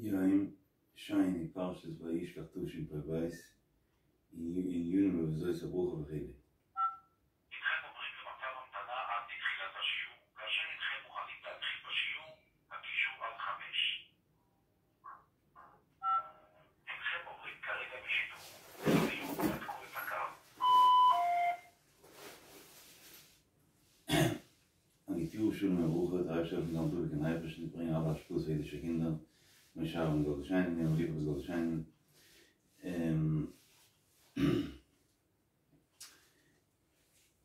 יום שני פרשת וישלח תשפ"ב ענינים בוזאת הברכה וכו'. הנכם עוברים למצב המתנה עד לתחילת השיעור. כאשר הנכם מוכנים להתחיל בשיעור, הקישו עד 5. הנכם עוברים כרגע בשידור. לדיוק נתקו את הקו. א גוט יאר שלום וברכה, דער אייבערשטער זאל העלפן זאלן טאג און אייבערשטן ברענגען אלע השפעות פאר אידישע קינדער, משה אהרן זאל שיינען און ליפא זאל שיינען.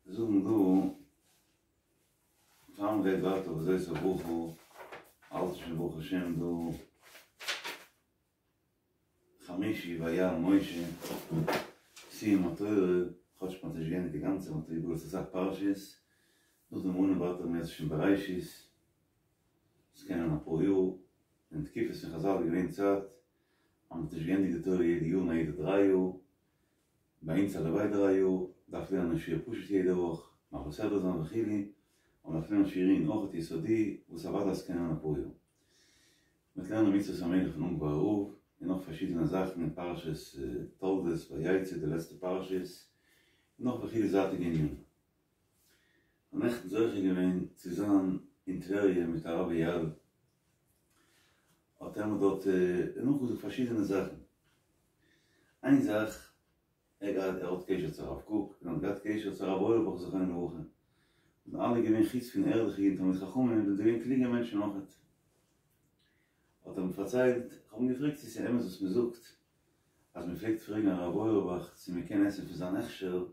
זאגן דא, פאר מען גייט ווייטער וזאת הברכה, האלט שוין ברוך השם דא חמישי ויעל משה, סיום התורה, כאטש מען האט נישט געענדיגט די גאנצע, מען האט איבערגעלאזט אסאך פרשיות, נאכדעם אן ווייטער אם ירצה השם בראשית, עס קען נעמען אפאר יאר, אין תקופות פון חזל איז געווען צייט אז מען האט נישט געענדיגט די תורה יעדע יאר נאר יעדע דריי יאר, ביי אונז הלוואי דריי יאר, דארף לערנען שיעור פשוט יעדע וואך, מעביר סדרה זיין וכו', און מ'דארף לערנען שיעור עיון אויכעט יסודי, וואס אוודאי עס קען נעמען אפאר יאר. מ'וועט לערנען מצוות המלך פון אונגווארער רב, און נאך פארשידענע זאכן אין פרשת תולדות, ויצא, די לעצטע פרשיות, און נאך וכו' זייטיגע ענינים. כ'האב נעכטן זוכה געווען צו זיין אין טבריה מיט הרב אייל, האט ער מיר דארט נאכגעזאגט פארשידענע זאכן. איין זאך, ער געהאט ער האט קשר צו הרב קוק, און האט געהאט קשר צו הרב אויערבאך זכרונו לברכה, זענען אלע געווען חוץ פון ערליכע אידן תלמידי חכמים זענען זיי געווען קלוגע מענטשן אויכעט. האט ער מיר פארציילט, איך האב אים געפרעגט צו ס'איז אמת וואס מ'זאגט אז מ'פלעגט פרעגן הרב אויערבאך צו מ'קען עסן פון זיין הכשר,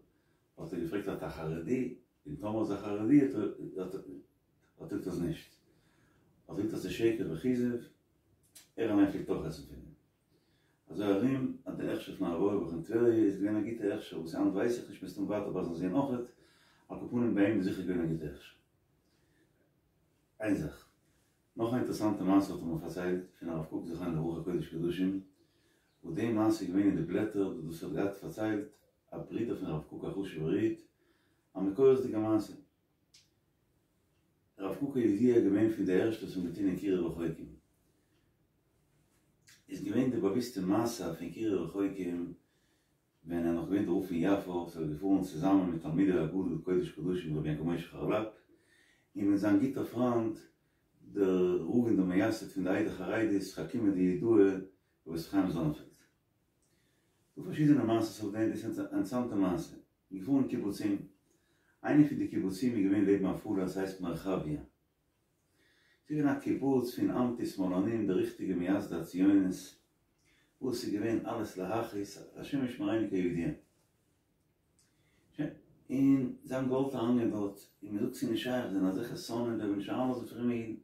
האט ער געפרעגט אתה חרדי? און טאמער איז ער חרדי האט ער געזאגט אז נישט. האט ער געזאגט אז ס'איז שקר וכזב, ער אליין פלעגט אויך עסן פון אים. אזוי ארום אז די הכשר פון הרב אויערבאך אין טבריה איז געווען א גוטע הכשר, וואס היינט ווייס איך נישט מסתם ווייטער ביי זיין זון אויכעט, על כל פנים ביי אים איז זיכער געווען א גוטע הכשר. איין זאך. נאך א אינטערעסאנטע מעשה האט ער מיר פארציילט פון הרב קוק זכרונו לברכה קודש קדשים, וואס די מעשה איז געווען אין די בלעטער, דאס האט געהאט פארציילט א ברודער פון הרב קוק א חשובער איד, א מקורות'דיגע מעשה. הרב קוק כידוע געווען פון די ערשטע וואס האבן געטון אין קירוב רחוקים. איז געווען די באוויסטע מעשה פון קירוב רחוקים ווען ער איז נאך געווען דער רב פון יפו איז ער געפארן צוזאמען מיט תלמידו הגדול קודש קדשים רבי יעקב משה חרל"פ און מיט זיין גוטער פריינד דער רב און דער מייסד פון די עדה החרדית חכימא דיהודאי רבי יוסף חיים זאנענפעלד. דא פארשידענע מעשות אויף דעם, דאס איז א אינטערעסאנטע מעשה. געפארן אין קיבוצים, איינע פון די קיבוצים איז געווען לעבן עפולה עס הייסט מרחביה. ס'איז געווען א קיבוץ פון אנטי שמאלנים די ריכטיגע מייסדי הציונות, וואס איז געווען אלעס להכעיס, השם ישמרינו כידוע. שוין, און זיי האבן געוואלט אריינגיין דארט, און מען זאגט ס'איז נישט שייך, זיי זענען אזעלכע שונאים, זיי וועלן נישט אריינלאזן פרומע אידן.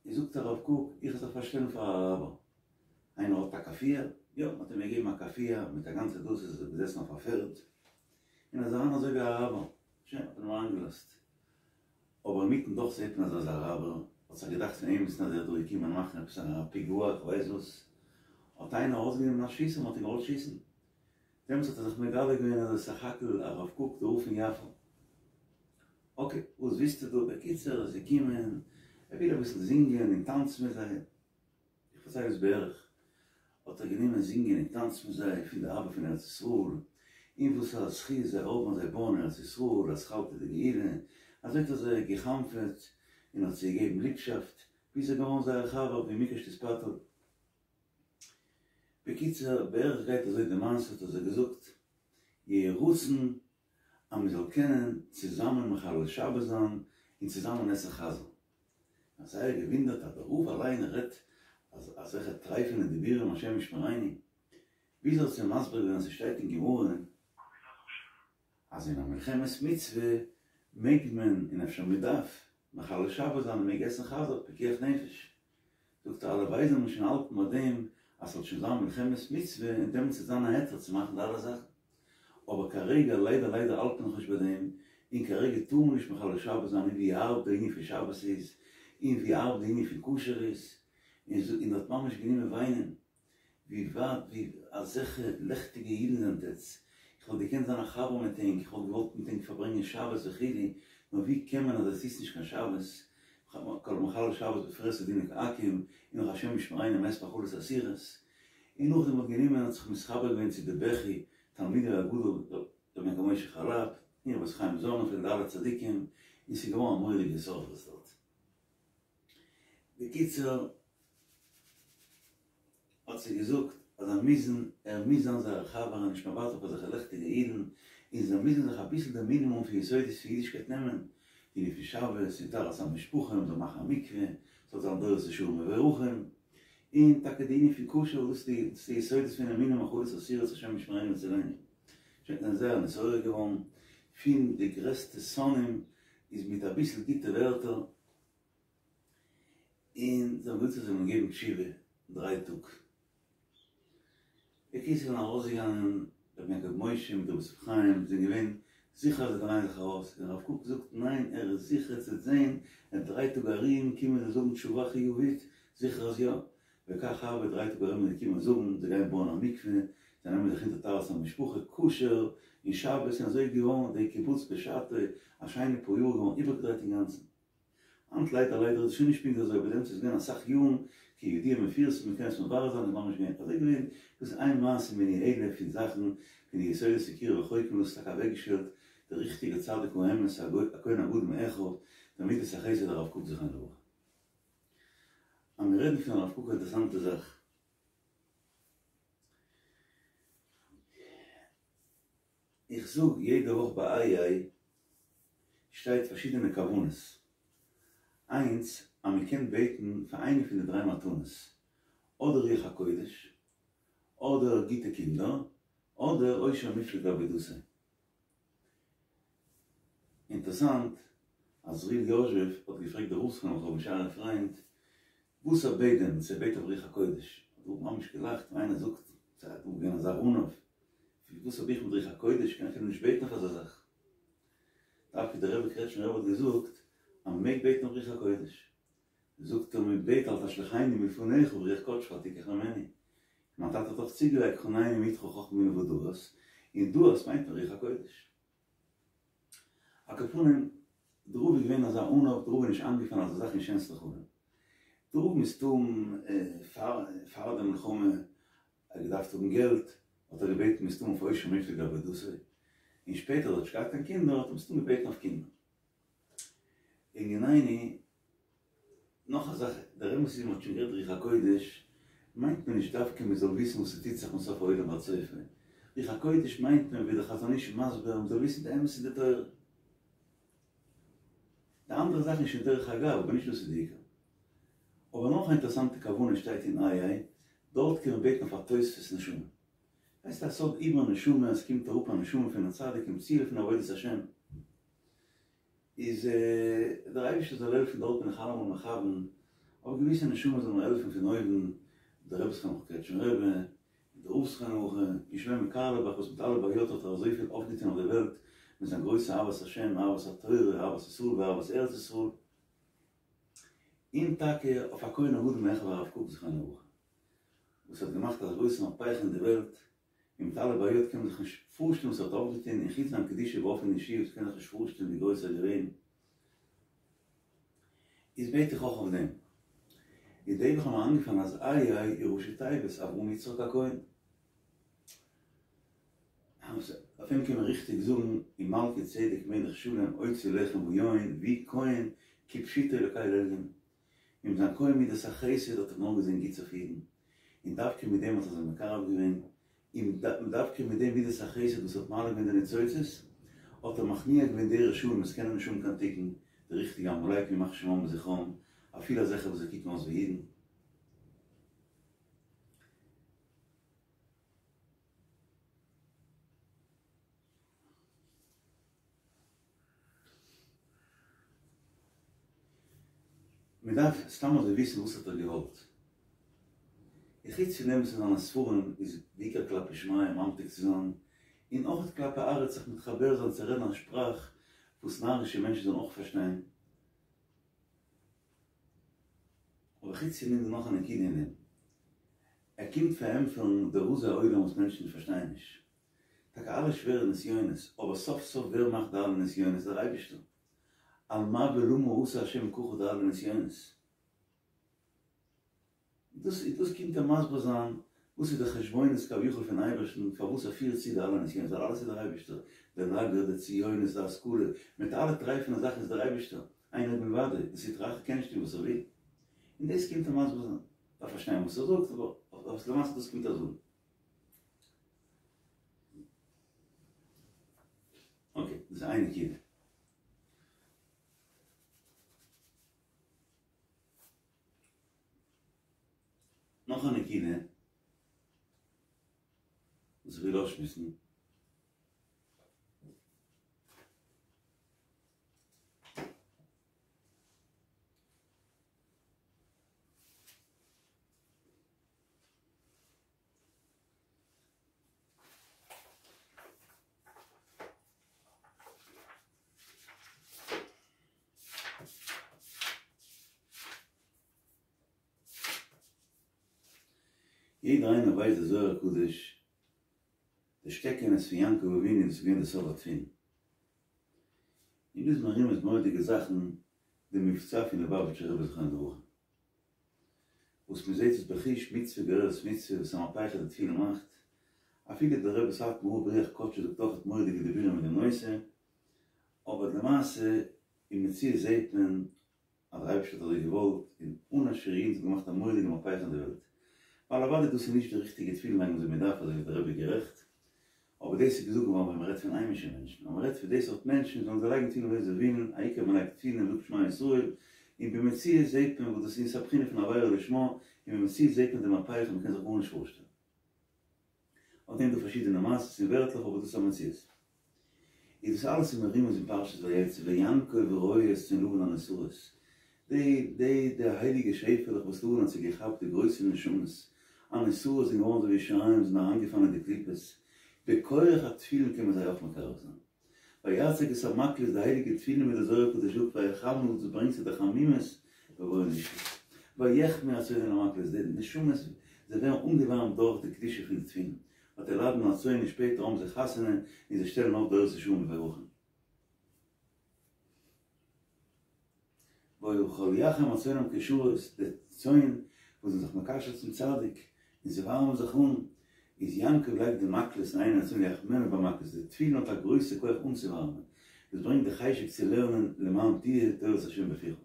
איז זאגט הרב קוק, איך וועל זיך פארשטעלן פאר א אראבער. איינער האט א כאפיה? יא, מען האט אים געגעבן א כאפיה מיט א גאנצע דאס איז ער געזעסן אויף א פערד, און איז אריין אזוי ווי א אראבער. שוין, האט מען אים אריינגעלאזט. אבער אינמיטן דאך זעט מען אז ער איז א אראבער, האט זיך געדאכט פון אים אז ער איז דא געקומען מאכן עפעס א פיגוע, איך ווייס וואס, האט איינער ארויסגענומען א שיסער און האט אים געוואלט שיסן. דעמאלטס האט ער זיך מגלה געווען אז ער איז סך הכל הרב קוק דער רב פון יפו. אקעי, וואס ווילסטו דא? בקיצור, ער איז געקומען, ער וויל אביסל זינגען און טאנצן מיט זיי. איך פארצייל עס בערך. האט ער גענומען זינגען און טאנצן מיט זיי פון די אהבה פון ארץ ישראל, און וואס א זכי' זיי האבן אז זיי בויען ארץ ישראל, אתחלתא דגאולה. אזוי האט ער זיי גע'חנפ'עט און האט זיי געגעבן ליבשאפט, ביז ער איז געווארן זייער חבר ווי מקש תתפטר. בקיצור, בערך גייט אזוי די מעשה, האט ער זיי געזאגט, יהי רצון אז מען זאל קענען צוזאמען מחלל שבת זיין און צוזאמען עסן חזיר. מ'האט זייער געוואונדערט אז דער רב אליין רעדט אזעלכע טרייפענע דיבורים השם ישמרינו. ביז ער האט זיי מסביר געווען אז ס'שטייט אין גמרא אז אין א מלחמת מצוה מעג מען און אפשר מען דארף מחלל שבת זיין און מעג עסן חזיר פיקוח נפש. זאגט ער הלוואי זאל מען שוין האלטן ביי דעם אז ס'זאל שוין זיין מלחמת מצוה און דעמאלטס וועט זיין א היתר צו מאכן די אלע זאכן. אבער כרגע ליידער ליידער האלט מען נאכנישט ביי דעם, און כרגע טאר מען נישט מחלל שבת זיין און ווי הארב די ענין פון שבת איז, און ווי הארב די ענין פון כשר איז, און ער האט ממש גענומען וויינען. ווי ווייט ווי אזעלכע לעכטיגע אידן זענט עטץ, איך וואלט געקענט זיין א חבר מיט ענק, איך וואלט געוואלט מיט ענק פארברענגען שבת וכו', נאר ווי קען מען אז עטס היטס נישט קיין שבת, כל המחלל שבת בפרהסיא דינו כעכו"ם, און נאך השם ישמרינו מת מאכלות אסורות, און נאכדעם האט גענומען האט זיך מתחבר געווען צו די בכי תלמידו הגדול רבי יעקב משה חרל"פ און רבי חיים זאנענפעלד די אלע צדיקים, און ס'איז געווארן א מורא'דיגע התעוררות דארט. בקיצור האט זיי געזאגט אז זיי מוזן, ער מוז זיין זייער חבר און נישט מוותר אויף אזעלכע לעכטיגע אידן, און זיי מוזן זיך אביסל די מינימום פון יסודות פון אידישקייט נעמען, די ענין פון שבת און טהרת המשפחה, מ'זאל מאכן א מקווה, ס'זאל זיין דורות ישרים מבורכים, און טאקע די ענין פון כשר, דאס איז די יסודות פון אמונה מאכלות אסורות השם ישמרינו ויצילנו. שוין זענען זייער נתעורר געווארן פון די גרעסטע שונאים איז מיט אביסל גוטע ווערטער, און זיי האבן געזאגט אז זיי וועלן געבן תשובה דריי טאג. בקיצור זענען ארויסגעגאנגען רבי יעקב משה מיט רבי יוסף חיים זענען געווען זיכער אז זיי דרייען זיך ארויס, און הרב קוק זאגט ניין ער איז זיכער צו זעהן אין דריי טאג ארום קומען זיי זאגן תשובה חיובית, זיכער אז יא, וכך הוה דריי טאג ארום זענען געקומען זאגן זיי גייען בויען א מקווה, זיי נעמען זיך אונטער טהרת המשפחה, כשר, און שבת, און אזוי איז געווארן די קיבוץ בשעתו א שיינע פאר יאר געווארן איבערגעדרייט אינגאנצן. היינט ליידער ליידער איז עס שוין נישט פונקט אזוי אבער דעמאלטס איז געווען אסאך יארן כידוע מפורסם מען קען עס מברר זיין איז ממש געווען אזוי געווען דאס איז איין מעשה מיני אלף פון זאכן פון די יסודות פון קירוב רחוקים דאס איז טאקע אוועקגעשטעלט דער ריכטיגער צדיק האמת הכהן הגדול מאחיו דער מידת החסד הרב קוק זכרונו לברכה. אז מיר רעדן פון הרב קוק א אינטערעסאנטע זאך. איך זאג יעדע וואך ביי איה שטייט פארשידענע כוונות, איינס אז מען קען בעטן פאר איינע פון די דריי מתנות, אדער רוח הקודש, אדער גוטע קינדער, אדער עושר מופלג לעבודתו. אינטערסאנט אז עזריאל יוזשעף האט געפרעגט די רב זכרונו לברכה רבי ישעי'לע פריינד וואס ער בעט דען, צו ער בעט אויף רוח הקודש, האט דער רב ממש געלאכט ווי איינער זאגט ס'איז דא געווען אזא עניו, וואס האב איך מיט רוח הקודש, קען אפילו נישט בעטן אויף אזא זאך. דווקא דער רבי קרעטשמער רבי האט געזאגט אז מ'מעג בעטן אויף רוח הקודש. זאגט ער מ'בעט אל תשליכני מלפניך ורוח קדשך אל תיקח ממני. מיין טאטע האט אויך צוגעלייגט חנני מאתך חכמה בינה ודעת, און דעת מיינט מען רוח הקודש. על כל פנים, דער רב איז געווען אזא עניו, דער רב איז נישט איינגעפאלן אזא זאך אין שענסטע חלום. דער רב מסתם פאר פאר די מלחמה האט געדארפט האבן געלט, האט ער געבעטן מסתם אויף עושר מופלג לעבודתו, און שפעטער האט נישט געהאט קיין קינדער האט ער מסתם געבעטן אויף קינדער. לענינינו, נאך א זאך, דער אמת איז מ'האט שוין גערעדט רוח הקודש, מיינט מען נישט דווקא מ'זאל וויסן וואס ס'טוט זיך מסוף העולם ועד סופו, רוח הקודש מיינט מען ווי דער חזון איש איז מסביר מ'זאל וויסן די אמת אין די תורה. די אנדערע זאכן איז שוין דרך אגב, אבער נישט דאס איז די עיקר. אבער נאך א אינטערעסאנטע כוונה שטייט אין איה, דארט קען מען בעטן אויף א תוספות נשמה. הייסט א סוד עיבור נשמה, עס קומט אראפ א נשמה פון א צדיק אין ציל פון עבודת השם, איז דער אייבערשטער זאל העלפן דארט בין איך אלעמאל מכוון, אויף געוויסע נשמות זאל מיר העלפן פון אויבן, דער רבי זכרונו לברכה קרעטשמער רבי, און דער רב זכרונו לברכה, און שלמה קארלעבאך וואס מיט אלע בעיות האט ער אזויפיל אויפגעטון אויף די וועלט, מיט זיין גרויסע אהבת השם, אהבת התורה, אהבת ישראל ואהבת ארץ ישראל, און טאקע אויף הכהן הגדול מאחיו הרב קוק זכרונו לברכה, וואס האט געמאכט א גרויסע מהפכה אין די וועלט, און מיט אלע בעיות קען מען זיך נישט פארשטעלן וואס ער האט אויפגעטון, און חוץ זיין קדושה באופן אישי וואס קען זיך נישט פארשטעלן ווי גרויס ער איז געווען, איז בעט איך אויך אויף דעם. איז די וואך האט מיר איינגעפאלן אז איה איז ראשי תיבות אברהם יצחק הכהן. אויף אים קען מען ריכטיג זאגן ומלכי צדק מלך שלם הוציא לחם ויין ווי כהן כפשוטו לקל עליון. מיט זיין כח מידת החסד האט ער נאר געזען גוטס אויף אידן, און דווקא מיט דעם האט ער זיי מקרב געווען, און דווקא מיט דעם מידת החסד וואס האט מעלה געווען די ניצוצות, האט ער מכניע געווען די רשעים וואס קענען נישט האבן קיין תיקון, די ריכטיגע עמלקים ימח שמם וזכרם, אפילו אזעלכע וואס זיי קוקן אויס ווי אידן. מען דארף סתם אזוי וויסן וואס האט ער געוואלט. און חוץ פון דעם וואס אין זיינע ספרים איז בעיקר כלפי שמיא ממתיק צו זיין, און אויך כלפי ארץ זיך מתחבר זיין צו רעדן א שפראך וואס נארישע מענטשן זאלן אויך פארשטיין. אבער חוץ פון דעם איז דא נאך א נקודה אין דעם. ער קומט פארענטפערן די רזי העולם וואס מענטשן פארשטייען נישט. טאקע אלע שווערע נסיונות, אבער סוף סוף ווער מאכט די אלע נסיונות? דער אייבערשטער. על מה ולמה עשה השם ככה די אלע נסיונות. דאס דאס קומט ער מסביר זיין וואס איז די חשבונות כביכול פון אייבערשטן פארוואס ער פירט צו די אלע נסיונות ווייל אלעס איז דער אייבערשטער, די לאגער, די ציונות, די השכלה, מיט אלע טרייפענע זאכן איז דער אייבערשטער, אין עוד מלבדו, די סטרא אחרא קען נישט טון וואס ער וויל. און דאס קומט ער מסביר זיין. דארף פארשטיין וואס ער זאגט אבער למעשה דאס קומט ער זאגן. אקעי, דאס איז איין נקודה. נאך א נקודה וואס איך וויל אויסשמועסן. יעדער איינער ווייסט די זוהר הקדוש, די שטעקענעס פון יעקב אבינו דאס איז געווען די סוד התפילין. און דא איז מרומז מורא'דיגע זאכן די מבצע פון ליובאוויטשער רבי זכרונו לברכה. וואס מען זעט עס בחוש מצוה גוררת מצוה וואס א מהפכה די תפילין מאכט, אפילו דער רבי סאטמאר רב ברוח קדשו זאגט אויך מורא'דיגע דיבורים אין דעם נושא, אבער למעשה אין מציאות זעט מען אז דער אייבערשטער האט אזוי געוואלט און אן א שיעור אידן האט געמאכט א מורא'דיגע מהפכה אין די וועלט, ווייל אוודאי דאס איז נישט די ריכטיגע תפילין לייגן אזוי מען דארף אזוי איז דער רבי גערעכט, אבער דאס איז געזאגט געווארן ווען מען רעדט פון היימישע מענטשן, ווען מען רעדט פון די סארט מענטשן זאלן זיי לייגן תפילין ווי זיי ווילן, העיקר מען לייגט תפילין און זאגט שמע ישראל, און במציאות זעט מען וואס דאס איז, ס'איז א בחינה פון עבירה לשמה, און במציאות זעט מען די מהפכה, מען קען זיך גארנישט פארשטעלן. אויף דעם דא פארשידענע מעשות און ווערטלעך אבער דאס איז א מציאות. איז דאס אלעס איז מרומז אין פרשת ויצא ויעקב רועה את צאן לבן הנסרות, די די די הייליגע שעפעלעך וואס לבן האט זיי געכאפט די גרויסע נשמות הנסרות זענען געווארן אזוי ווי שיריים זענען אריינגעפאלן אין די קליפות, בכח התפילין קען מען זיי אויך מקרב זיין. ויצג את המקלות די הייליגע תפילין ווי די זוהר הקדוש זאגט ויחמם דאס ברענגט צו די חמימות בבואו לישון. ויחמו הצאן אל המקלות די נשמות זיי ווערן אנגעווארעמט דורך די קדושה פון די תפילין, ותלדנה הצאן און שפעטער האבן זיי חתונה און זיי שטעלן אויף דורות ישרים מבורכים. וכל יחם הצאן המקושרות, די צאן וואס זענען זיך מקשר צום צדיק און זיי ווארעמען זיך אן, איז יעקב לייגט די מקלות אין עיני הצאן ויחמנה במקלות, די תפילין האט א גרויסע כח אנצואווארעמען, דאס ברענגט די חשק צו לערנען למען תהיה תורת השם בפיך.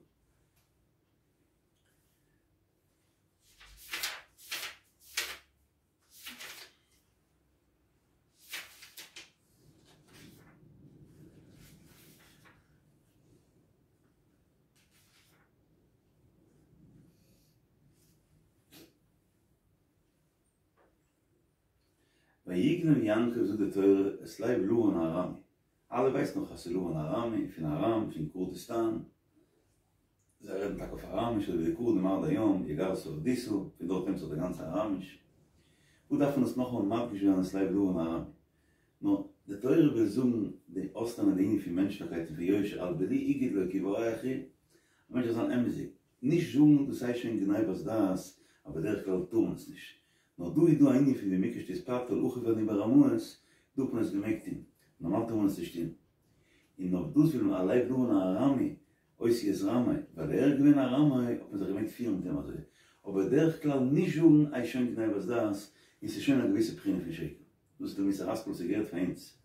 ויגנב יעקב זאגט די תורה את לב לבן הארמי, אלע ווייסן נאך אז ס'איז לבן הארמי, פון ארם, פון קורדיסטאן, זיי רעדן טאקע אויף אראמיש אזוי ווי די קורדים עד היום, יגר שהדותא, פון דארט נעמט זיך די גאנצע אראמיש. וואס דארף מען עס נאכאמאל מדגיש זיין את לב לבן הארמי? נאר די תורה וויל זאגן די אויסלערנען די ענין פון מענטשליכקייט און פון יושר אל בלי הגיד לו כי באורח הוא, א מענטש זאל זיין אמת'דיג, נישט זאגן דאס הייסט שוין גניבת דעת, אז בדרך כלל טאר מען עס נישט. נאר דא איז דא א ענין פון ומקח תתפתל אחיו אני ברמאות, דא האט מען עס געמעגט טון, נארמאל טאר מען עס נישט טון. און אויף דאס וויל מען א לב לבן הארמי, אותיות רמאי, ווייל ער איז געווען א רמאי האט מען זיך געמעגט פירן מיט אים אזוי, אבער בדרך כלל נישט זאגן איז שוין גניבת דעת און ס'איז שוין א געוויסע בחינה פון שקר. דאס איז די מוסר השכל וואס געהערט פאר אונז.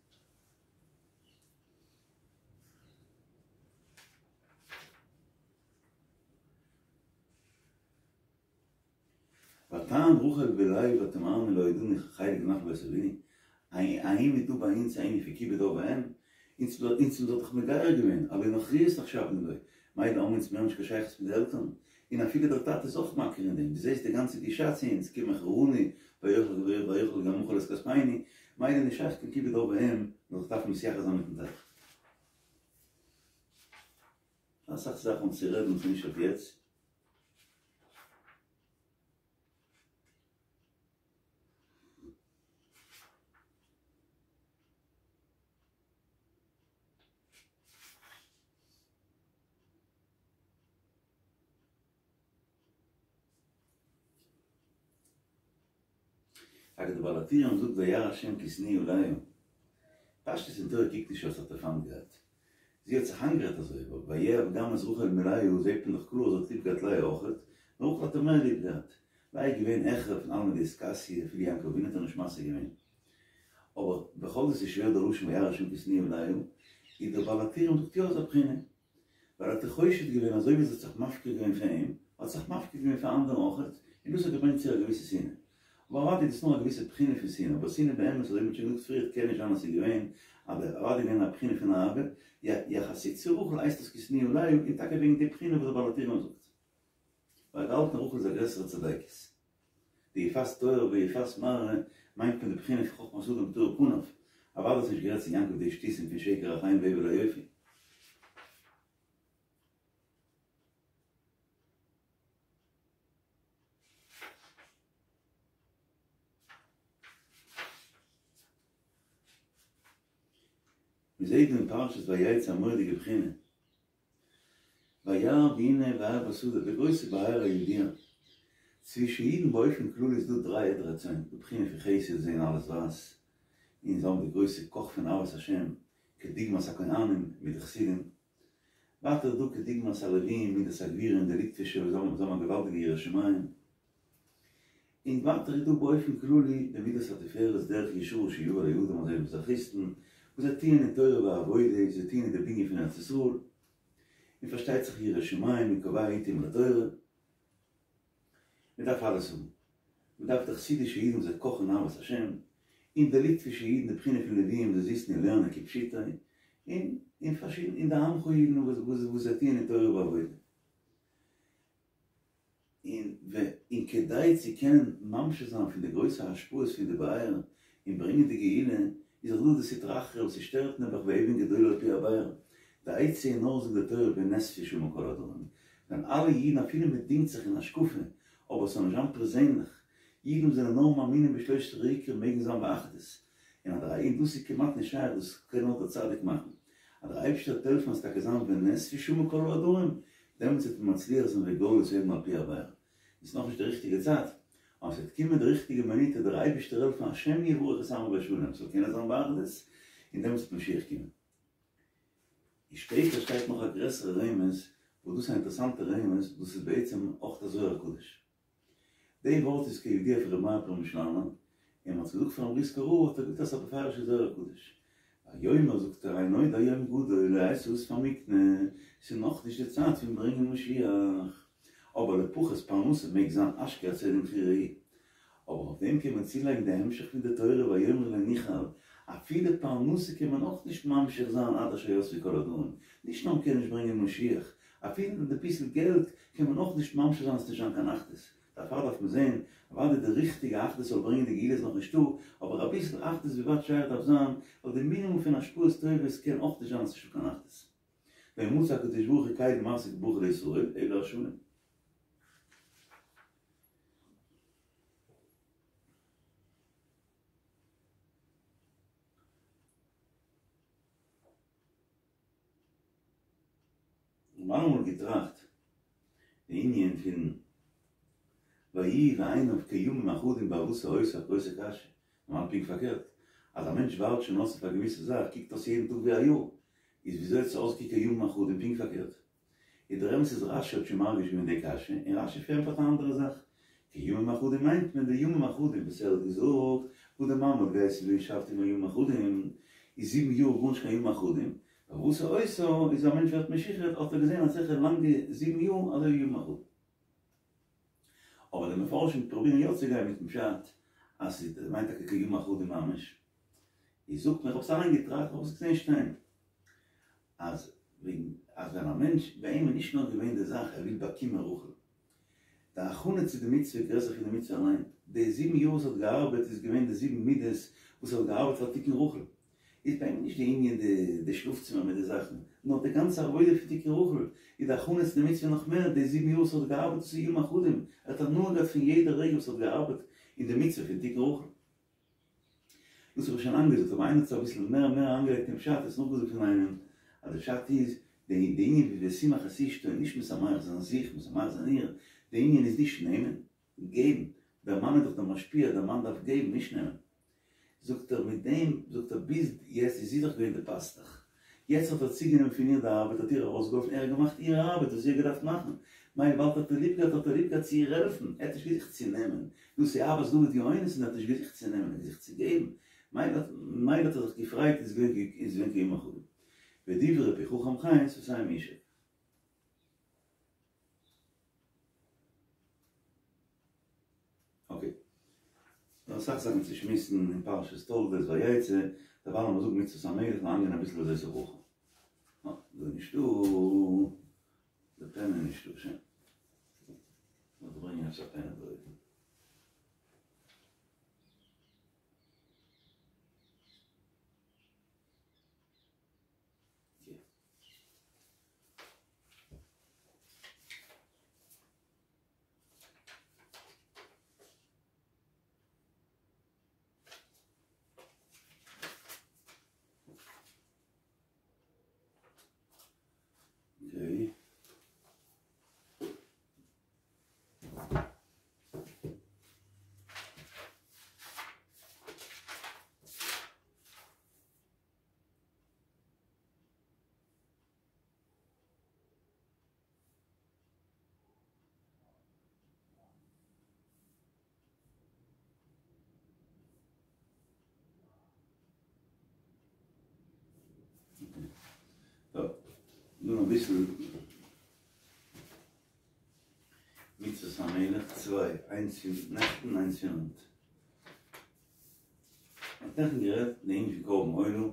ותען רחל בלאה ותאמרנה לא ידענו חלק ונחלה בבית אבינו, האם איז דא ביי אונז א ענין פון כיבוד אב ואם? אונז אונז האט דאך מגייר געווען, הלא נכריות נחשבנו לו, מילא האבן אונז מער נישט קיין שייכות מיט די עלטערן, און אפילו דער טאטע איז אויך מכיר אין דעם, דו זעסט די גאנצע גישה צו אונז, כי מכרונו ויאכל ויאכל גם אכל את כספינו, מילא נישט שייך קיין כיבוד אב ואם, נאר זיך דארפן מתייחס זיין מיטן טאטע. אסאך זאכן צו רעדן ס'נישט אויף יעצט. אגב די בעל הטורים זאגט וירא השם כי שנואה לאה. פשטות אין תורה קוקט נישט אויס האט ער פיינט געהאט. זי האט זיך איינגערעדט אזוי, אבער ויאהב גם את רחל מלאה זעהט מען דאך קלאר אז זי האט ליב געהאט לאה אויכעט, נאר רחל האט ער מער ליב געהאט. לאה איז געווען העכער פון עלמא דאתכסיא, אפילו יעקב אבינו האט איר נישט משיג געווען. אבער בכל זאת איז שווער דער לשון וירא השם כי שנואה לאה, איז דער בעל הטורים זאגט יא אזא בחינה. ווייל ער האט איר חושד געווען אזוי ווי זי האט זיך מפקיר געווען פאר אים, האט זיך מפקיר געווען פאר אנדערע אויכעט, און דאס האט געברענגט צו א געוויסע שנאה. אבער אוודאי איז דאס נאר א געוויסע בחינה פון שנאה, אבער שנאה באמת אזוי ווי מ'האט שוין געזאגט פריער קען נישט זיין אז ס'איז געווען, אבער אוודאי געווען א בחינה פון אהבה, יחסית צו רחל הייסט עס כי שנואה לאה, און טאקע וועגן די בחינה וואס דער בעל הטורים זאגט. ווייל ער האט געהאלטן רחל איז א גרעסערע צדקת. די יפת תואר ויפת מראה מיינט מען די בחינה פון חכמת אדם תאיר פניו, אוודאי האט זי נישט גערעדט צו יעקב די שטותים פון שקר החן והבל היופי. מ'זעהט דא אין פרשת ויצא א מורא'דיגע בחינה. וירא והנה באר בשדה, די גרויסע באר הידועה. צווישן אידן באופן כללי איז דא דריי עדרי צאן, די בחינה פון חסד זעהן אלעס ווייס, און זיי האבן די גרויסע קאך פון אהבת השם, כדוגמת הכהנים מיט די חסידים. ווייטער איז דא כדוגמת הלוויים מידת הגבורה און די ליטווישע וואס זיי האבן א געוואלדיגע יראת שמים. און ווייטער איז דא באופן כללי די מידת התפארת דרך ישרה שיהיו על הידים אזוי ווי מזרחיסטן וואס זיי טוען אין תורה ועבודה, זיי טוען אין די בנין פון ארץ ישראל, און פארשטייט זיך ירא שמים און קובע עתים לתורה. מען דארף אלעס האבן. מען דארף די חסידישע אידן וואס זיי קאכן אין אהבת השם, און די ליטווישע אידן די בחינה פון לוויים וואס זיי זיצן און לערנען כפשוטו, און און פארשידענע און די עמך אידן וואס זיי טוען אין תורה ועבודה. און און כדי צו קענען ממשיך זיין פון די גרויסע השפעות פון די באר און ברענגען די גאולה, איז דאך דא די סטרא אחרא וואס ס'שטערט נעבעך ואבן גדולה על פי הבאר, די עצה איז נאר זאגט די תורה ונאספו שמה כל העדרים, ווען אלע אידן אפילו מען דינגט זיך אין השקפה, אבער ס'זאל נישט זיין פערזענליך, אידן וואס זענען נאר מאמינים בשלושת העיקרים מעגן זיין באחדות, און אז דער און דאס איז כמעט נישט שייך דאס קען נאר דער צדיק מאכן, אז דער אייבערשטער וועט העלפן אז טאקע זיין ונאספו שמה כל העדרים, דעמאלטס וועט מען מצליח זיין וגאלו את האבן על פי הבאר. איז נאכנישט די ריכטיגע צייט, אבער ס'וועט קומען די ריכטיגע מינוט וועט דער אייבערשטער העלפן השם יברך את עמו בשלום ס'זאל קענען זיין באחדות, און דעמאלטס וועט משיח קומען. און שפעטער שטייט נאך א גרעסערע רמז, וואס דאס איז א אינטערעסאנטע רמז, דאס איז בעצם אויך א זוהר הקדוש. די ווארט איז כידוע פון ר' מאיר פרעמישלאנער, און מען האט געזאגט פארן בריסקער רב האט ער געזאגט אז ס'איז א בפירוש'ע זוהר הקדוש. ויאמר זאגט ער אין עוד היום גדול לעת האסף המקנה, ס'איז נאכנישט די צייט פון ברענגען משיח, אבער לפחות פרנסה מעג זיין אשכח צדק בחירה אבער אויף דעם קען מען צולייגן די המשך פון די תורה ויאמר לא נוכל, אפילו פרנסה קען מען אויך נישט ממשיך זיין עד אשר יאספו כל העדרים, נישט נאר מ'קען נישט ברענגען משיח, אפילו די ביסל געלט קען מען אויך נישט ממשיך זיין עס נישט זיין קיין אחדות, דערפאר דארף מען זען, אוודאי די ריכטיגע אחדות זאל ברענגען די גאולה איז נאך נישטא, אבער אביסל אחדות ווי ווייט שייך דארף זיין, ווייל די מינימום פון השפעות טובות קען אויך נישט זיין אז ס'נישטא קיין אחדות. לא מצא הקדוש ברוך הוא קל משיג ברכה לישראל אלא השלום. כ'האב אלעמאל געטראכט די ענין פון ויהי בעיניו כימים אחדים באהבתו אותה, א גרויסע קשיא, נארמאל פונקט פארקערט, אז א מענטש ווארט שוין אויס אויף א געוויסע זאך קוקט אויס יעדן טאג ווי א יאר, איז וויאזוי האט עס אויסגעקוקט כימים אחדים פונקט פארקערט? איז דער אמת איז רשי האט שוין מרגיש געווען די קשיא, און רשי פארענטפערט א אנדערע זאך, כימים אחדים מיינט מען די ימים אחדים וואס ער האט געזאגט, וואס די מאמע האט געהייסן וישבתי עמה ימים אחדים, איז זיבן יאר גארנישט קיין ימים אחדים, באהבתו אותה איז א מענטש ווערט משוחד האט ער געזען אזעלכע לאנגע זיבן יאר אזוי ווי ימים אחדים. אבער די מפרשים פרובירן יא צו גיין מיטן פשט אז ס'מיינט טאקע כימים אחדים ממש, איז זאגט מען, איך האב עס אליין געטראכט, איך האב עס געזען שטיין. אז וועגן אז ווען א מענטש ביי אים איז נישט נאר געווען די זאך ער וויל באקומען רחל, די הכנה צו די מצוה איז גרעסער פון די מצוה אליין, די זיבן יאר וואס ער האט געארבעט איז געווען די זיבן מידות וואס ער האט געארבעט פאר תיקון רחל, איז ביי אים נישט די ענין די די שלאף צימער מיט די זאכן, נאר די גאנצע עבודה פון תיקון רחל, איז די הכנה צו די מצוה נאך מער, די זיבן יאר וואס ער האט געארבעט דאס איז ימים אחדים, ער האט הנאה געהאט פון יעדע רגע וואס ער האט געארבעט אין די מצוה פון תיקון רחל. דאס האב איך שוין לאנג געזאגט, אבער איינער האט עס אביסל מער מער אריינגעלייגט אין פשט, עס נאכגעזאגט פון איינעם, אז די פשט איז, די די ענין פון ושמח את אשתו, נישט משמח זיין זיך, משמח זיין איר, די ענין איז נישט נעמען, געבן, דער מאן איז דאך דער משפיע, דער מאן דארף געבן, נישט נעמען. זאגט ער, מיט דעם, זאגט ער, ביז יעצט איז זי דאך געווען די פאסטעך. יעצט האט ער צוגענומען פון איר די ארבעט, האט איר ארויסגעהאלפן, ער האט געמאכט איר ארבעט וואס זי האט געדארפט מאכן, מילא וויבאלד האט ער ליב געהאט האט ער ליב געהאט צו איר העלפן, ער האט נישט געזוכט צו נעמען, דאס איז אהבת דוד יהונתן, ער האט נישט געזוכט צו נעמען, ער האט געזוכט צו געבן, מילא האט ער זיך געפרייט איז געווען כימים אחדים. ודברי פי חכם חן שפתים ישק. אקעי. דא אסאך זאכן צו שמועסן אין פרשת תולדות ויצא, דערווייל לאמיר זאגן מצוות המלך און איינגיין אביסל וזאת הברכה. אה, דא איז נישטא, די פענע איז נישטא, שוין. לאמיר ברענגען עפעס א פענע דא אויבן. אקעי. נאר אביסל מצוות המלך צוויי, איינס פון נעכטן איינס פון היינט. מ'האט נעכטן גערעדט די ענין פון קרבן עולה.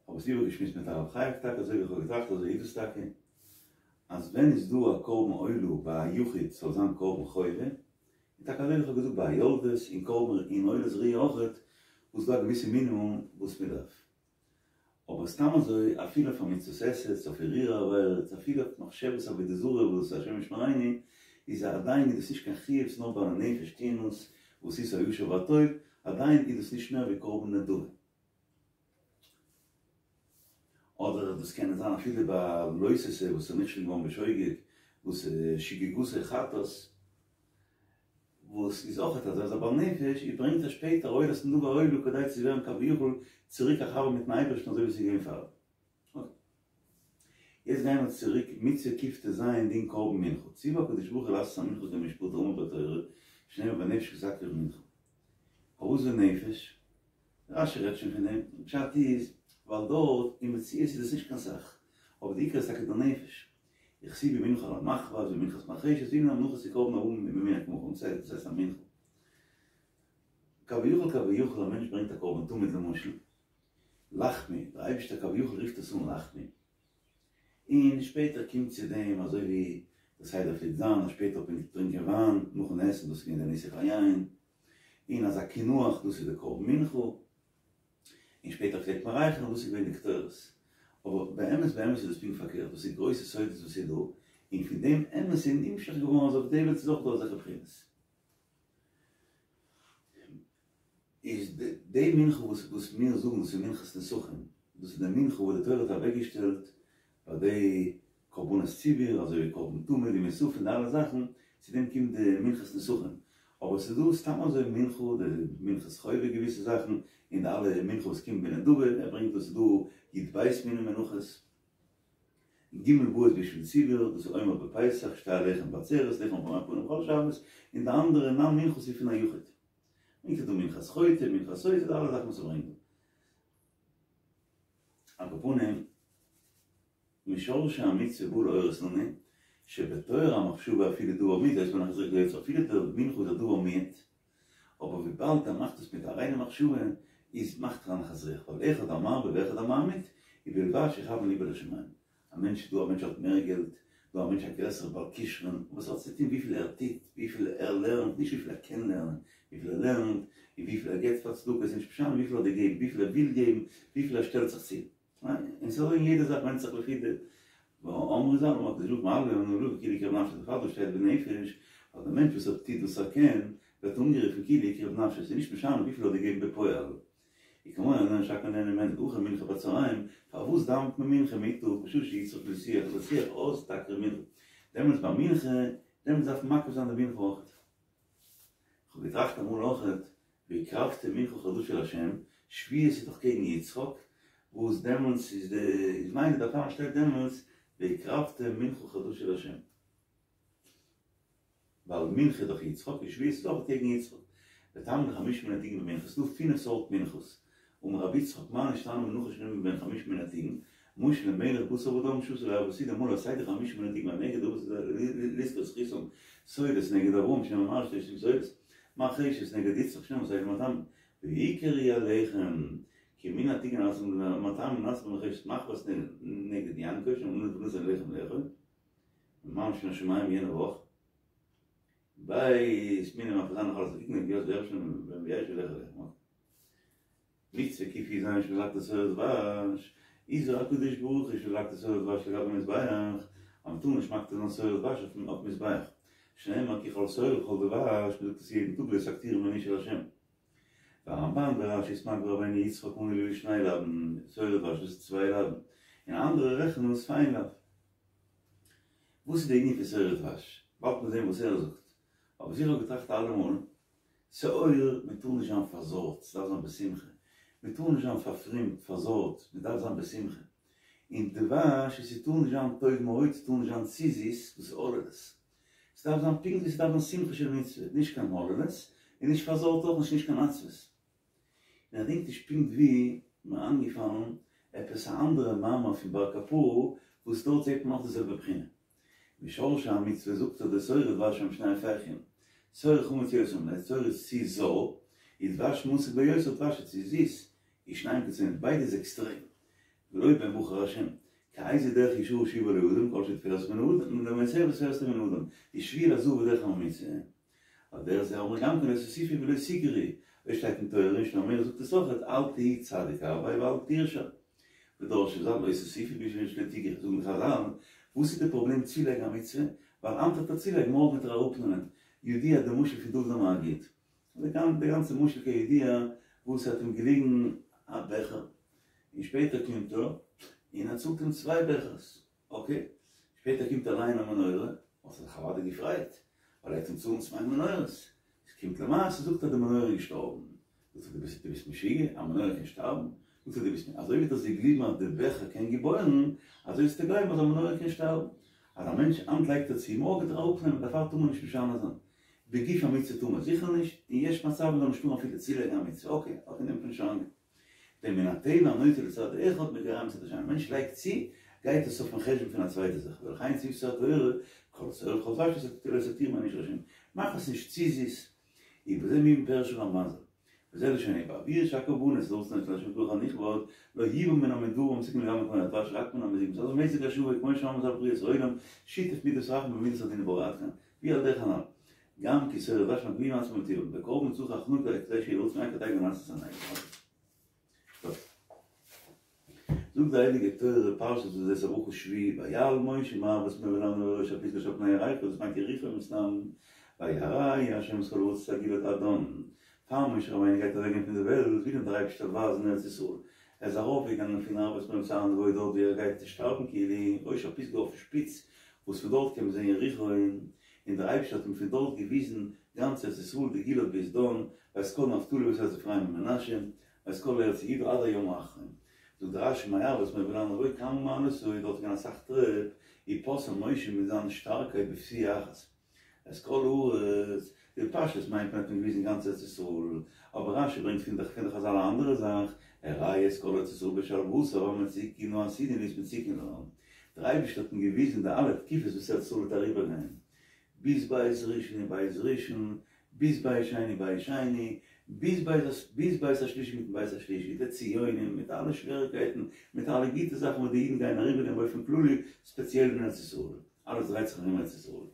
האב עס איבערגעשמועסט מיט הרב חייק טאקע אזוי ווי איך האב געטראכט אזוי איז עס טאקע אז ווען איז דא א קרבן עולה ביי א יחיד ס'זאל זיין קרבן חובה און טאקע אזוי ווי איך האב געזאגט ביי א יולדת און קרבן און עולת ראי' אויכעט וואס איז דא א געוויסע מינימום וואס מען דארף אבער סתם אזוי אפילו אויף א מצות עשה אויף הרהור עבירות אפילו אויף מחשבת עבודה זרה וואס השם ישמרינו איז עדיין איז דאס נישט קיין חיוב ס'נאר בעלי נפש טוען עס ועשית הישר והטוב עדיין איז דאס נישט מער ווי קרבן נדבה. אדער דאס קען זיין אפילו ביי לא תעשה וואס איז נכשל געווארן בשוגג, וואס שגגתו חטאת, וואס איז אויך אז ער איז א בעל נפש, און ברענגט ער שפעטער עולת נדבה עולה כדי צו ווערן כביכול צוריק א חבר מיטן אייבערשטן אזוי ווי עס איז געווען פאר. אקעי. יעצט גייען מיר צוריק מצוה קט"ז דין קרבן מנחה, ציוה הקדוש ברוך הוא לעשות המנחה כמשפט האמור בתורה, שנאמר בנפש כי תקריב מנחה. פארוואס בנפש? רש"י רעדט שוין פון דעם, פשט איז ווייל דארט אין מציאות איז עס נישט קיין סך, אבער די עיקר איז טאקע דער נפש. וכתיב ומנחה על המחבת ומנחת מרחשת והנה המנחות קרבן הבא ממין הקמחים, דאס הייסט א מנחה. כביכול כביכול א מענטש ברענגט א קרבן תמיד למשל, לחמי, דער אייבערשטער כביכול רופט עס אן לחמי, און שפעטער קומט צו דעם אזוי ווי דער סדר פלעגט זיין אז שפעטער האט מען געטרינקען וויין נאכן עסן דאס איז געווען דער ניסוך היין, און אזא קינוח דאס איז די קרבן מנחה, און שפעטער פלעגט מען רייכערן דאס איז געווען די קטורת, אבער באמת באמת איז דאס פונקט פארקערט דאס איז גרויסע סודות וואס איז דא, און פון דעם אמת איז נמשך געווארן אז אויף די וועלט איז אויך דא אזעלכע בחינות. איז די מנחה וואס וואס מיר זאגן דאס איז מנחת נסכים, דאס איז די מנחה וואס די תורה האט אוועקגעשטעלט ביי די קרבנות ציבור, אזוי ווי קרבן תמיד און מוספים די אלע זאכן, צו דעם קומט די מנחת נסכים, אבער ס'איז דא סתם אזוי מנחה, די מנחת חובה געוויסע זאכן, און די אלע מנחה וואס קומט בנדבה, ער ברענגט דא ס'איז דא י"ב מיני מנחות, ג' באות בשביל ציבור, דאס איז עומר בפסח, שתי הלחם בעצרת, לחם פעמי פנים בכל שבת, און די אנדערע ניין מנחות איז פון א יחיד. ברענגט ער דא מנחת חוטא, מנחת סוטה, די אלע זאכן וואס ער ברענגט דא. על כל פנים, משורשי המצוה בא להורות לנו, שבטוהר המחשבה אפילו דבר מועט, היתה בה נחת רוח ליוצרה, אפילו די מנחה איז א דבר מועט, אבער וויבאלד ער מאכט עס מיט א ריינע מחשבה, איז מאכט ער א נחת רוח, ווייל אחד המרבה ואחד הממעיט, ובלבד שיכוון ליבו לשמים. א מענטש, דא א מענטש האט מער געלט, דא א מענטש א גרעסערע בעל כשרון, וואס האט צו טון וויפיל ער טוט, וויפיל ער לערנט, נישט וויפיל ער קען לערנען, וויפיל ער לערנט, און וויפיל ער געבט פאר צדקה, איז נישט משנה וויפיל ער האט געגעבן, וויפיל ער וויל געבן, וויפיל ער שטעלט זיך צו. און ס'איז אזוי אין יעדע זאך ווענדט זיך לפי די ואמרו ז"ל אמר הקדוש ברוך הוא מהללין אני עליו כאילו הקריב נפשו דערפאר דא שטייט בנפש ווייל דער מענטש וואס ער טוט וואס ער קען ווערט אנגערופן כאילו הקריב נפשו ס'איז נישט משנה וויפיל ער האט געגעבן בפועל וכמו הענין שהכל נהנין ממנו דהכא מנחה בצהריים פארוואס דאווענט מען מנחה מיטאג בשעה שיצטרך לשוח לשוח אז תקריב מנחה דעמאלטס ביי מנחה דעמאלטס דארף מען מקריב זיין די מנחה אויכעט. כ'האב געטראכט אמאל אויכעט, והקרבתם מנחה חדשה לה', שבועות איז דאך קעגן יצחק, וואס דעמאלטס איז די איז מיינט דערפאר שטייט דעמאלטס והקרבתם מנחה חדשה לה'. ווייל מנחה איז דאך יצחק און שבועות איז אויך קעגן יצחק. וטעמא דחמשה מיני דיגין במנחה, ס'דא פינף סארט מנחות. אמר רבי יצחק מה נשתנה מנחה שנאמרה מבין חמשה מיני דיגין, משל למלך בשר ודם שעשה לו אבא סעודה מלא סדר חמשה מיני דיגין והנגד אבות לזכור זכותם סולת נגד אברהם שנאמר מר שתשתים סולת מרחשת נגד יצחק שנאמר סדר מטעמים ועיקר היא הלחם כי מן הטיגן נעשה מטעמים נעשה במרחשת מחבת נגד יעקב שנאמר ונתן לחם לאכול ממש מן השמים יענע וואך בית מיני מפזן אכל עסקים נגיעות בערב שם ויש ולך לחם מצוה קי"ז שלקט שעור דבש, הזהיר הקדוש ברוך הוא שלא להקטיר שאור ודבש על גבי מזבח, אז מ'טאר נישט מקטיר זיין שאור ודבש אויפן מזבח, שנאמר כי כל שאור וכל דבש, מ'זאגט עס יעדן טאג לא תקטירו מן אשה לה'. והרמב"ן ורש"י וסמ"ג ורבינו יצחק מנו אלו שני לאווין, שאור ודבש דאס איז צוויי לאווין, און אנדערע רעכענען עס פאר איין לאו. וואס איז די ענין פון שאור ודבש? באלד מיר זעהן וואס ער זאגט. אבער וואס איך האב געטראכט אלעמאל, שאור, מען טאר נישט זיין פארזארגט, ס'דארף זיין בשמחה. מען טאר נישט זיין פארפרומט, פארזארגט, מען דארף זיין בשמחה. און דבש איז ס'טאר נישט זיין טוב מאוד, ס'טאר נישט זיין צו זיס, דאס איז הוללות. ס'דארף זיין פונקט ווי ס'דארף זיין שמחה של מצוה, נישט קיין הוללות, און נישט פארזארגט אויך נישט, נישט קיין עצבות. און איך דענק נישט פונקט ווי מיר איינגעפאלן עפעס א אנדערע מאמר פון בר קפרא וואס דארט זעט מען אויך די זעלבע בחינה. משרשי המצוה זאגט ער דשאור ודבש הם שני הפכים, שאור חמוץ יותר מן שאור איז צו זויער, ודבש מתוק ביותר דבש איז צו זיס, ושניהם קיצוניים, ביידע איז עקסטרעם. ולא בהם בחר השם, כי איזה דרך ישרה שיבה לאדם כל שתפארת מן האדם, למעשה תפארת מן האדם, ושביל הזהב בדרך הממוצע. על דרך זה אמרו גם כן לא תוסיפו ולא תגרעו, אזוי שטייט אין תורה און שלמה המלך זאגט עס אויכעט אל תהי צדיק הרבה ואל תרשע. ודרשו ז"ל לא תוסיפו בשביל שלא תגרעו, זאגן די חז"ל, וואס איז די פראבלעם צולייגן א מצוה? ווייל היינט וועט ער צולייגן מארגן וועט ער אראפנעמען, ידוע די משל פון דוד המגיד, די גאנצע משל כידוע וואס ס'האט אים געליגן א בעכער, און שפעטער קומט ער און ער צאלט אים צוויי בעכערס. אקעי, שפעטער קומט אריין א מנורה, האט ער זיך אוודאי געפרייט, ווייל ער וועט אים צאלן צוויי מנורות, עס קומט למעשה זאגט ער די מנורה איז געשטארבן, זאגט ער דו ביסט דו ביסט משוגע, א מנורה קען שטארבן? זאגט ער דו ביסט אזוי ווי דו האסט געגליבן אז די בעכער קען געבוירן, אזוי זאלסטו גלייבן אז א מנורה קען שטארבן, אז א מענטש היינט לייגט ער צו, מארגן וועט ער אראפנעמען, דערפאר טאר מען נישט משנה זיין, בגוף המצוה טאר מען זיכער נישט, און יש מצב מען זאל נישט טארן אפילו צולייגן א מצוה, אקעי, אקעי נעמט מען נישט אריין. ווען מן הטבע הנוטה לצד אחד מגרע מצד השני, א מענטש לייגט צו, גייט עס אויפן חשבון פון א צווייטע זאך, ולכן ציוותה התורה, כל שאור וכל דבש לא תקטירו מן האשה לה', מאך עס נישט צו זיס, ובזה מובן פירוש הרמב"ן ז"ל, וזה לשונו בעבור שהקרבנות לרצון לה' ברוך הנכבד, לא יובא מן המדברים המתוקים לגמרי כמו הדבש רק מן המזיק, מצד המזג השווה כמו שאמרנו ז"ל בריאת העולם, שיתף מידת הרחמים במידת הדין וברא עד כאן, והוא על דרך הנ"ל. גם כי שאור ודבש מגביהים עצמם בטבעם, וקרבן צריך הכנה כדי שיהיה לרצון כדי לנסות הנגע. טוב. זאגט די הייליגע תורה פרשת וזאת הברכה שביעי ויעל משה מערבות מואב אל הר נבו אל ראש הפסגה אשר על פני יריחו דאס מיינט יריחו מסתם ויראהו ה' את כל הארץ את הגלעד עד דן פאר משה רבינו גייט אוועקגיין פון די וועלט וויל אים דער אייבערשטער ווייזן ארץ ישראל ער איז ארויפגעגאנגען פון ערבות מואב צו הר נבו דארט ווי ער גייט שטארבן כאילו ראש הפסגה אויפן שפיץ וואס פון דארט קען מען זען יריחו און דער אייבערשטער האט אים פון דארט געוויזן גאנץ ארץ ישראל די גלעד ביז דן, ואת כל נפתלי ואת ארץ אפרים ומנשה, ואת כל ארץ יהודה עד הים האחרון. זאגט דער רש"י מערבות מואב אל הר נבו כמה מעלות היו, דארט איז געווען אסאך טרעפ, ופשאן משה מיט זיין שטארקייט בפסיעה אחת את כל הארץ, די פשטות מיינט מען האט אים געוויזן גאנץ ארץ ישראל, אבער רש"י ברענגט פון די חז"ל א אנדערע זאך, הראהו את כל ארץ ישראל בשלוותה והמצוקין העתידין להיות מצוקין לה. דער אייבערשטער האט אים געוויזן די אלע תקופות וואס ארץ ישראל וועט אריבערגיין, ביז בית ראשון און בית ראשון, ביז בית שני בית שני, ביז בית ביז בית השלישי מיטן בית השלישי, די ציונים מיט אלע שוועריקייטן, מיט אלע גוטע זאכן וואס די אידן גייען אריבערגיין באופן כללי, ספעציעל אין ארץ ישראל, אלעס דרייט זיך ארום ארץ ישראל.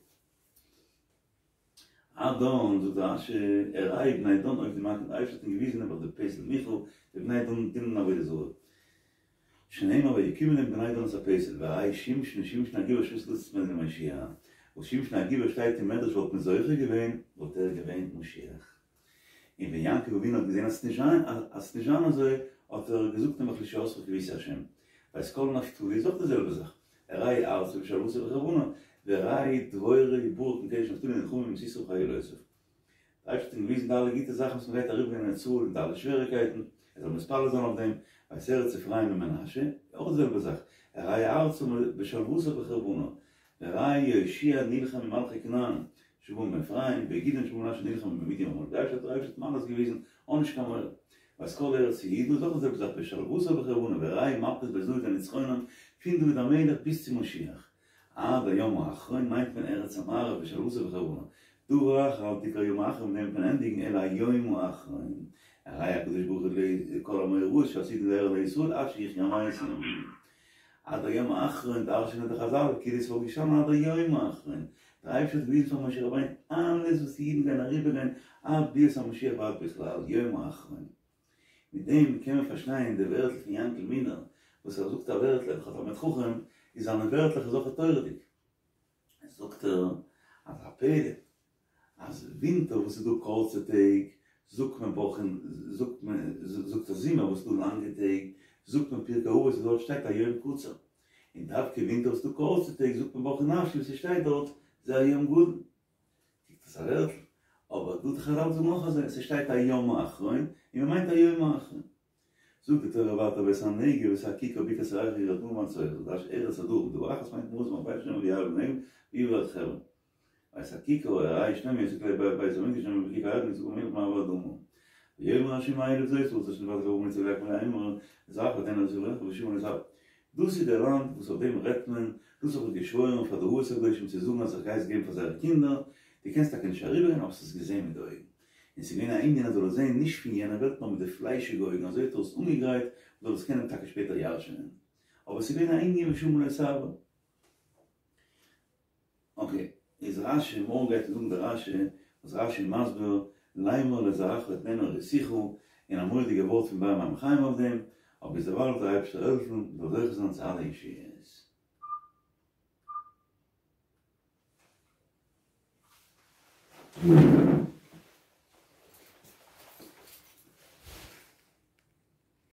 עד דן, זאגט רש"י, הראהו בני דן עובדי מקנה, דער אייבערשטער האט אים געוויזן נעבעך די פסל מיכה, די בני דן דינען עבודה זרה. שנאמר ויקימו להם בני דן את הפסל, והראהו שמשון שמשון הגיבור שעתיד לצאת ממנו למושיע, וואס שמשון הגיבור שטייט אין מדרש וואלט מען זוכה געווען, וואלט ער געווען משיח. און ווען יעקב אבינו האט געזען אז ס'וועט נישט זיין אזוי, האט ער געזאגט נעבעך לישועתך קויתי השם. ואת כל נפתלי איז אויך די זעלבע זאך, הראהו ארצה בשלוותה ובחרבנה, והראהו דבורה וברק מקדש נפתלי נלחמים עם סיסרא וחילותיו. דער אייבערשטער האט אים געוויזן די אלע גוטע זאכן וואס מען גייט אריבערגיין אין ארץ ישראל און די אלע שוועריקייטן, ער זאל מתפלל זיין אויף דעם, ואת ארץ אפרים ומנשה, אויך די זעלבע זאך, הראהו ארצה בשלוותה ובחרבנה, והראיה יהושע נלחם עם מלכי כנען שבאו מאפרים, וגדעון שבא ממנשה נלחם עם מדין ועמלק, דער אייבערשטער האט אלעס געוויזן, אן נישט קיין מורא. ואת כל ארץ יהודה איז אויך די זעלבע זאך בשלוותה ובחרבנה, והראיה מלכות בית דוד ונצחונם, פון דוד המלך ביז צו משיח. עד היום האחרון מיינט מען ארץ המערב בשלוותה ובחרבנה. דבר אחר אל תקרא יום האחרון מיט דעם וועט מען ענדיגן אלא היום האחרון. הראהו הקדוש ברוך הוא כל המאורעות שעתידין לארע לישראל עד שיחיו המתים. עד היום האחרון דרש'נען די חזל כאילו עס וואלט געשטאנען עד היום האחרון. דער אייבערשטער האט געוויזן פאר משה רבינו אלעס וואס די אידן גייען אריבערגיין עד ביאת המשיח ועד בכלל, יום האחרון. מיט דעם קען מען פארשטיין די ווערטל פון יענקל מילער וואס ער זאגט א ווערטל ער איז דאך א תלמיד חכם איז זיינע ווערטלעך איז אויך תורה'דיג. זאגט ער אז א פלא אז ווינטער וואס איז דא קורצע טעג זאגט מען ברכו זאגט מען זאגט ער זומער וואס איז דא לאנגע טעג זאגט מען פרקי אבות וואס דארט שטייט היום קצר און דווקא ווינטער וואס איז דא קורצע טעג זאגט מען ברכו נפשי וואס ס'שטייט דארט זה היום גדול. קוקט אויס א ווערטל, אבער דא די חזל זאגן אויך אזוי, ס'שטייט היום האחרון און מ'מיינט היום האחרון. זאגט די תורה ווייטער ואת הנגב ואת הכיכר בקעת הירחו ירדנה ומצועה, זאגט רש"י ארץ הדרום, דבר אחת מיינט מרום אלפי שנים ויעל בנגב ויבא עד חברון. ואת הכיכר הראהו שלמה יוסף כלי בית המקדש שנאמר בכיכר הירדן יצחק המלך במעבר אדומים. ויאמר ה' אליו זאת הארץ אשר נשבעתי לאברהם ליצחק וליעקב לאמור לזרעך אתנה ושמה לא תעבור. דאס איז דער לאנד וואס אויף דעם רעדט מען, דאס האב איך געשוואוירן פאר די אבות הקדושים צו זאגן אז איך גיי עס געבן פאר זייערע קינדער, דו קענסט טאקע נישט אריבערגיין אבער האסט עס געזען מיט די אויגן. און ס'איז געווען א ענין אז זאל עס זען נישט פון יענע וועלט נאר מיט די פליישיגע אויגן אזוי האט ער עס אנגעגרייט מ'זאל עס קענען טאקע שפעטער ירש'ענען. אבער ס'איז געווען א ענין ושמה לא תעבור. אקעי, איז רשי, מארגן גייט אונז זאגן די רשי, וואס רשי איז מסביר, לאמר לזרעך אתננה הראיתיך, און א מורא'דיגע ווארט פון באר מים חיים אויף דעם, אבער ביזדערווייל זאל דער אייבערשטער העלפן מ'זאל זוכה זיין צו אלע ישועות.